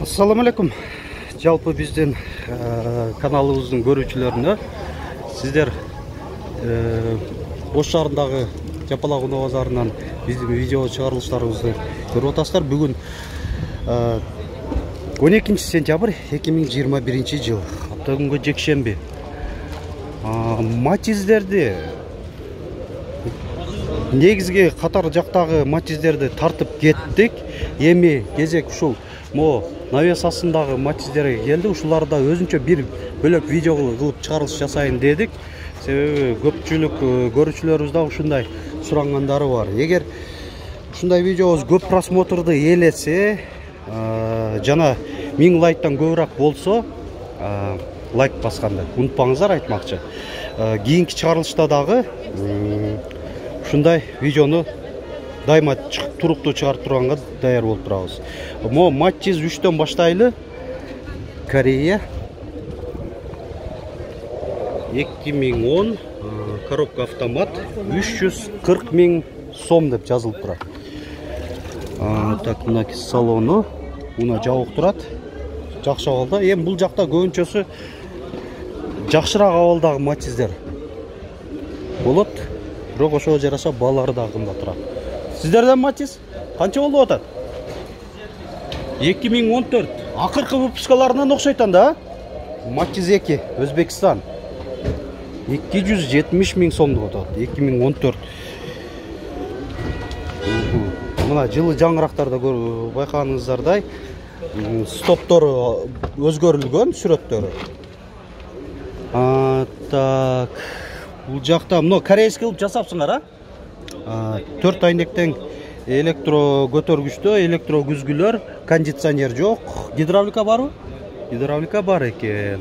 Assalamu alaikum. Жалпы биздин каналыбыздын көрүүчүлөрүнө сиздер Ош шаарындагы Жапалак Унаа базарынан биздин видео чыгарылыштарыбызды көрүп атасыздар. Бүгүн 12 сентябрь 2021 жыл. Апта күнгө жекшемби. Матиздерди негизги катар жактагы матиздерди тартып кеттик. Эми кезек ушул навес астындагы матиздерге келди. Ушуларда өзүнчө бир бөлөк видео кылып чыгарылыш жасайын дедик. Себеби көпчүлүк көрүүчүлөрүбүз да ушундай сурангандары бар. Эгер ушундай видеобуз көп просмотрду ээлесе, жана 1000 лайктан көбүрөөк болсо, лайк басканды унутпаңыздар айтмакчы. Кийинки чыгарылышта дагы ушундай видеону дайыма туруктуу чыгарып турганга даяр болуп турабыз. Матиз 3төн баштайлы. Корея 2010 коробка автомат 340 000 сом деп жазылып турат. Так, мына салону мына жабык турат. Жакшы абалда. Эми бул жакта көбүнчөсү жакшыраак абалдагы матиздер болот. Бирок ошого жараша баалары да кымбат турат. Сиздерден матиз канча болуп атат? 2014. Акыркы выпускаларынан окшойт анда. Матиз 2 Өзбекстан 270 000 сом деп атат. 2014. Мына жылы жаңырактарда байкаганыңыздардай стоптору өзгөрүлгөн сүрөттөрү. Так, бул жакта мына корейский кылып жасапсыңар, 4 айнектен электро көтөргүчтө, электро күзгүлөр, кондиционер жок. Гидравлика барбы? Гидравлика бар экен.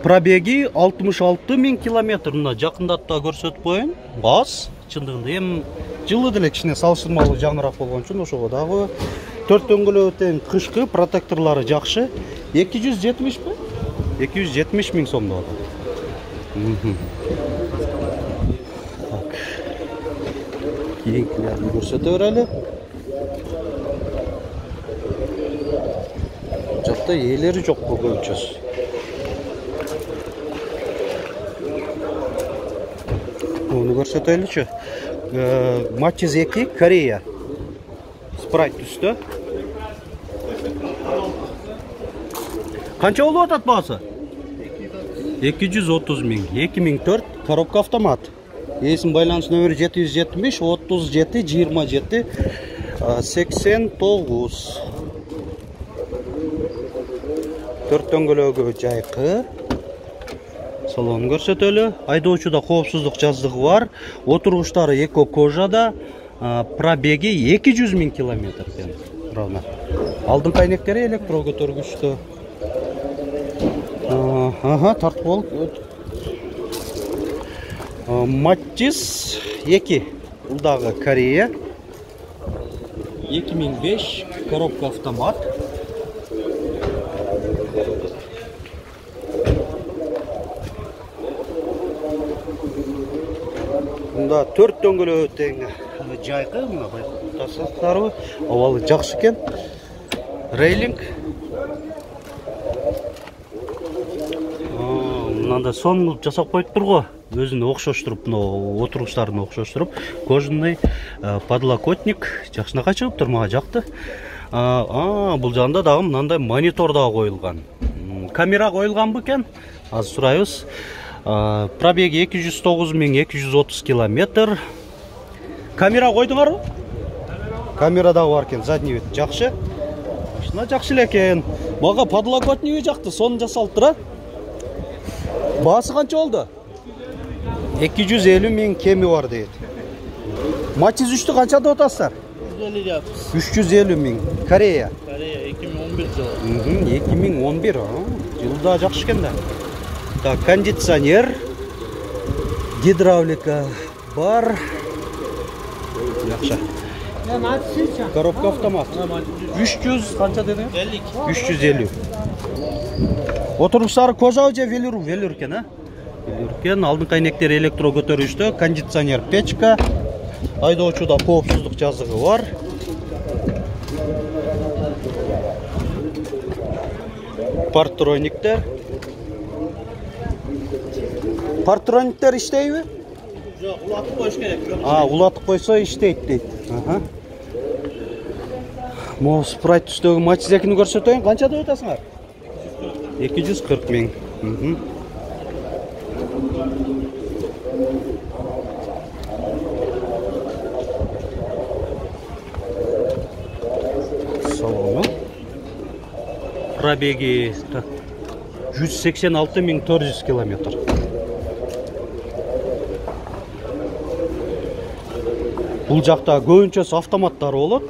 Пробеги 66 000 километр. Мына жакындатып да көрсөтүп коеюн. Аз чындыгында эми жылы деле кичине салыштырмалуу жаңыраак болгон үчүн ошого дагы 4 дөңгөлөктөн кышкы протекторлору жакшы. 270 бе? 270 000 сом деп атат. Кийинкилерди көрсөтө берели. Жакта ээлери жок көбүнчөсү. Муну көрсөтөлүчү. Матиз 2 Корея. Спрайт түстө. Канча болуп атат баасы? 230 000. 2004 коробка автомат. Есім байланыс нөмірі 770 37 27 89. 4 дөңгөлөгү жайкы. Салон көрсөтөлү. Айдоочуда коопсуздук жаздыгы бар. Отургучтары эко кожада. Пробеги 200 000 километр. Равно. Алдыңкы айнектери электро көтөргүчтө. Тартып болуп. Матиз 2 бул дагы Корея 2005 коробка автомат. Мында 4 дөңгөлөө тең жайкы, мына байкасаңыздарбы, абалы жакшы экен. Рейлинг. Мындай сон кылып жасап коюптур го. Өзүнө окшоштуруп, отургучтарын окшоштуруп, кожаный подлокотник жакшынакай чыгыптыр, мага жакты. Бул жагында дагы мындай монитор да коюлган. Камера коюлганбы экен? Азыр сурайбыз. Пробеги 209 230 километр. Камера койдуңарбы? Камера дагы бар экен, задний вид жакшы. Машина жакшы эле экен. Мага подлокотниги жакты, сон жасалып турат. Баасы канча болду? 250 000 кеми бар дейт. Матиз 3тү канча деп атасыздар? 350 000. Корея. Корея 2011 жылы. 2011. Жылда жакшы экен да. Так, кондиционер, гидравлика бар. Жакшы. Коробка автомат. 300 канча деди? 350. Отургучтары кожа же велюр? Велюр экен, Велюркен, алдыңкы айнектери электро көтөрүштө, кондиционер печка, айдоочуда коопсуздук жазыгы бар. Партрониктер. Партрониктер иштейби? Жок, улатып коюш керек. Улатып койсо иштейт дейт. Могу спрайт түстөгү матчизекини көрсөтөйүн. Канча деп атасыңар? 240 миң. Салону. Пробеги 186.400 километр. Бул жакта көбүнчөсү автоматтар болот.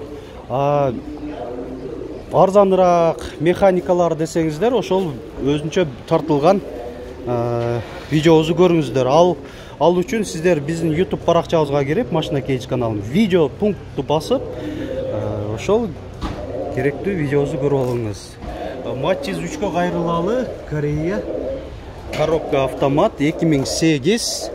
Арзаныраак механикалар десеңиздер, ошол өзүнчө тартылган видеобузду көрүңүздөр. Ал үчүн сиздер биздин YouTube баракчабызга кирип, Машина Кейдж каналын видео пунктту басып, ошол керектүү видеобузду көрүп алыңыз. Матчиз 3кө кайрылалы, Корея. Коробка автомат 2008.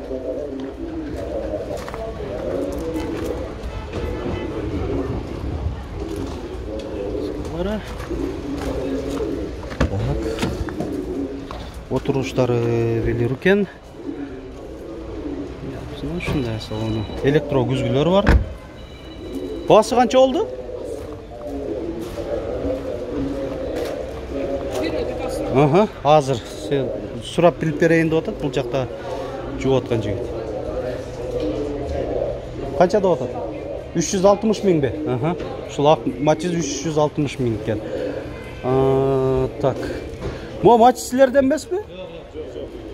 Отуруштары велир экен. Ушундай салону. Электро күзгүлөр бар. Баасы канча болду? Азыр сурап билип берейин деп атат. Бул жакта жууп аткан жигит. Канча деп атат? 360 миңби? Ушул матчиз 360 миң экен. Так. Могу матч силерден эмеспи?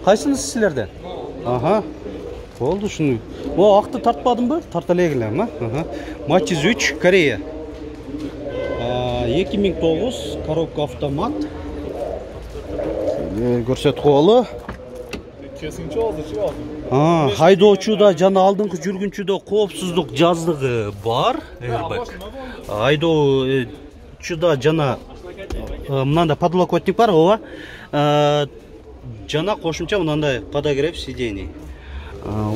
Кайсынысы силерден? Болду ушуну. Могу акты тартпадымбы? Тарта элегилем, Матчиз 3 Корея. 2009 коробка автомат. Көрсөтүп коелу. Кесинчи болду, чыгабы. Айдоочуда жана алдыңкы жүргүнчүдө коопсуздук жаздыгы бар. Айдоочуда жана мынандай подлокотник бар, ооба. Жана кошумча мынандай подогрев сидений.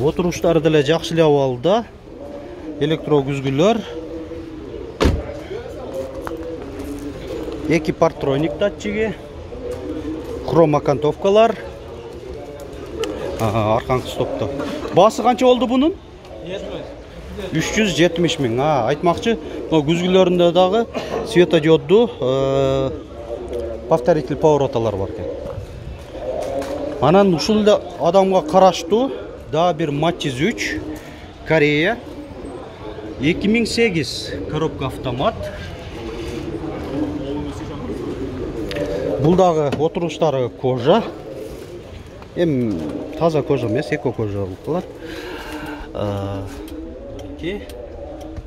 Отуруштары деле жакшы эле абалда. Электро күзгүлөр. 2 партроник датчиги. Хром окантовкалар. Арканкы стопту. Баасы канча болду бунун? 370 миң. Айтмакчы, күзгүлөрүндө дагы светодиодду повторитель повороталар бар экен. Анан ушул эле адамга караштуу да бир Матчиз 3 Корея 2008 коробка автомат. Бул дагы отуруштары кожа. Таза кожа эмес, эко кожа болуп калат.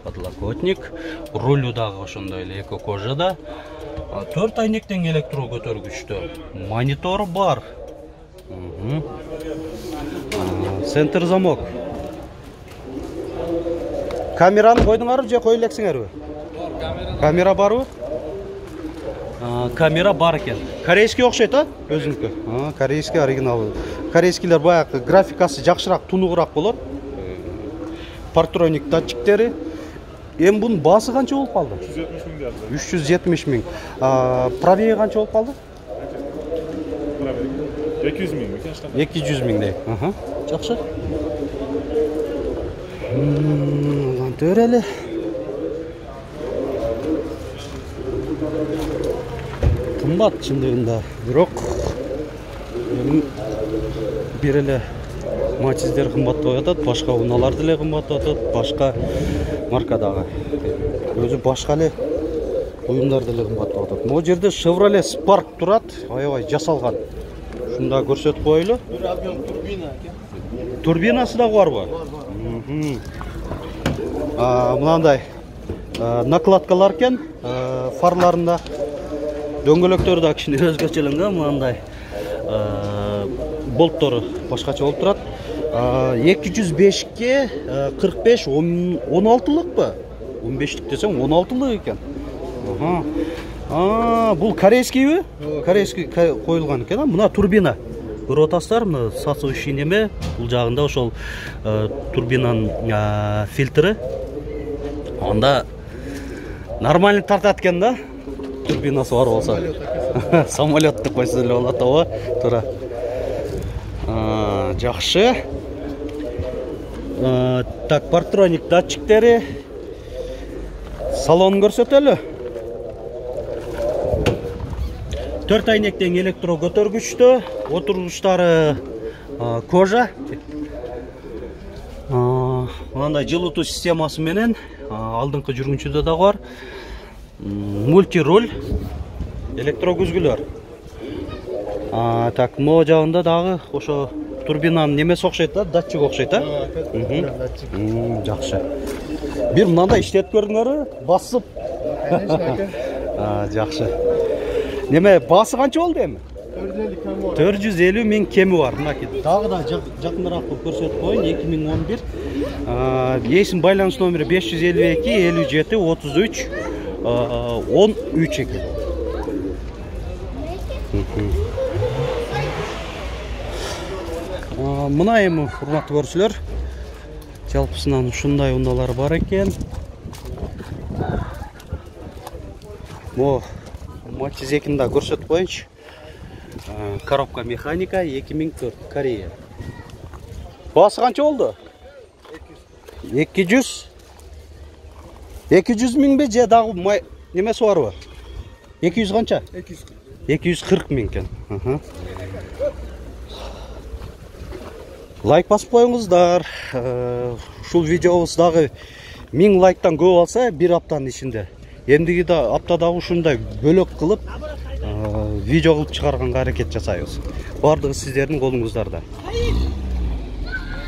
Подлокотник, рулю дагы ошондой эле эко кожада. 4 айнектен электро көтөргүчтө. Монитор бар. Центр замок. Камераны койдуңарбы же кое элексиңерби? Камера барбы? Камера бар экен. Корейский окшойт, өзүнүкү. Корейский оригинал. Корейскийлер баягы графикасы жакшыраак, тунугураак болот. Партроник датчиктери. Бунун баасы канча болуп калды? 370 миң. Пробеги канча болуп калды? 200 миң. 200 миңдей. Жакшы. Төреле. Кымбат чындыгында, бирок бир эле матчиздер кымбаттап атат, башка унаалар деле кымбаттап атат, башка маркадагы. Өзү башка эле уюмдар деле кымбаттап атат. Могу жерде Chevrolet Spark турат, аябай жасалган. Шунда көрсөтүп коелу. Бир объем турбина экен. Турбинасы дагы барбы? Мынандай накладкалар экен, фарларында. Дөңгөлөктөрү да кичине өзгөчөлөнгөн, мындай болттору башкача болуп турат. 205ке 45 16лыкпы? 15лик десем 16лык экен. Бул корейскийби? Корейский коюлган экен. Мына турбина. Көрүп атасыздар, мына сасующий неме, бул жагында ошол турбинанын фильтри. Анда нормально тартат экен да. турбинасы бар болсо. Самолет деп койсо эле болот ооба. Туура. Жакшы. Так, партроник датчиктери. Салонун көрсөтөлү. 4 айнектен электро көтөргүчтө, отургучтары кожа. Мындай жылытуу системасы менен алдыңкы жүргүнчүдө да бар. Мультируль, электро күзгүлөр. Так, могу жагында дагы ошо турбинанын немеси окшойт да, датчик окшойт, а? Жакшы. Бир мындай иштетип көрдүңөрбү? Басып. Жакшы. Неме басы канча болду эми? 450 миң кеми бар. Мынакей дагы да жакыныраак кылып көрсөтүп коеюн. 2011. Эсин байланыш номери 552 57 33 13 экен. Мына эми урматтуу көрүүчүлөр, жалпысынан ушундай унаалар бар экен. Мо Матиз 2-ни да көрсөтүп коеюнчу. Коробка механика 2004 Корея. Басы канча болду? 200 миңби же дагы немеси барбы? 200 канча? 240 миң экен. Лайк басып коюңуздар. Ушул видеобуз дагы 1000 лайктан көп алса, бир аптанын ичинде. Эмдиги да аптада ушундай бөлөк кылып видео кылып чыгарганга аракет жасайбыз. Бардыгы сиздердин колуңуздарда.